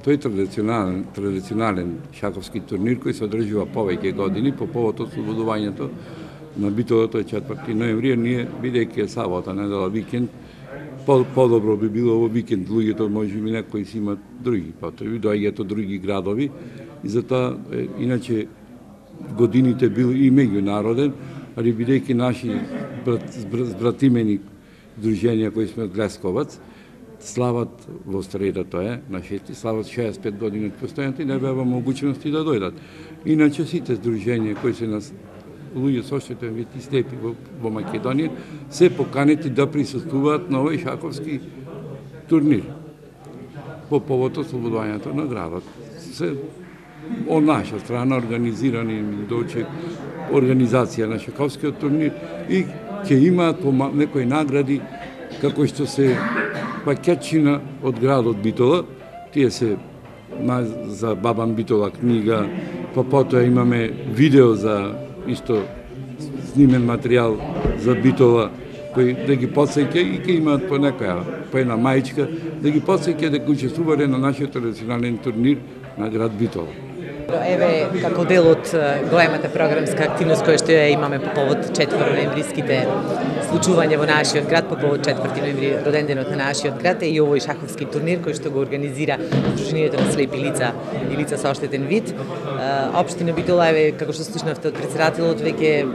Тој традиционален шаковски турнир кој се одржува повеќе години по повод ослободувањето на Битола, тој 4 ноември, ние бидејќи е сабота, недела, викенд, подобро би било во викенд, луѓето можеби некои си имат други потреби, доаѓаат од други градови и затоа иначе годините бил и меѓународен, али бидејќи наши братимени друженија кои сме од Лесковац слават во среда, тоа е на 6, слават 65 години од постојањето и не беа могуćности да дојдат. Иначе сите здруженија кои се нас луѓе со оштетен вид и слепи во Македонија се поканети да присуствуваат на овој шаковски турнир по повод ослободувањето на градот. Се од наша страна организирани дочек организација на шаковскиот турнир и ќе имаат некои награди како што се пакетчина од градот Битола, тие се за Бабан Битола книга, па потоа имаме видео за исто снимен материјал за Битола кој да ги потсеќа и ќе имаат по една мајчка да ги потсеќа дека учествувале на нашиот традиционален турнир на град Битола. Еве, како дел од големата програмска активност која што ја имаме по повод 4 ноемвриските случувања во нашиот град, по повод 4 ноември роденденот на нашиот град, е и овој шаковски турнир кој што го организира Сдруженијето на слепи лица и лица со оштетен вид. Општина Битола, еве, како што слушнавте од претседателот, веќе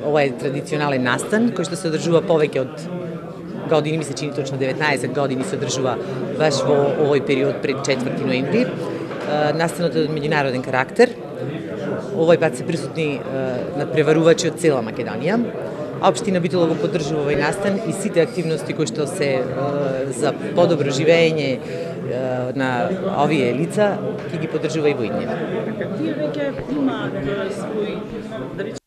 ова е традиционален настан кој што се одржува повеќе од години, ми се чини точно 19 години се одржува баш во овој период пред 4 ноември. Настанот е од меѓународен карактер. Овој пат се присутни надпреварувачи од цела Македонија. Општина Битола го поддржува овој настан и сите активности кои што се за подобро живење на овие лица ќе ги поддржува и во иднина. Тие веќе имаат свој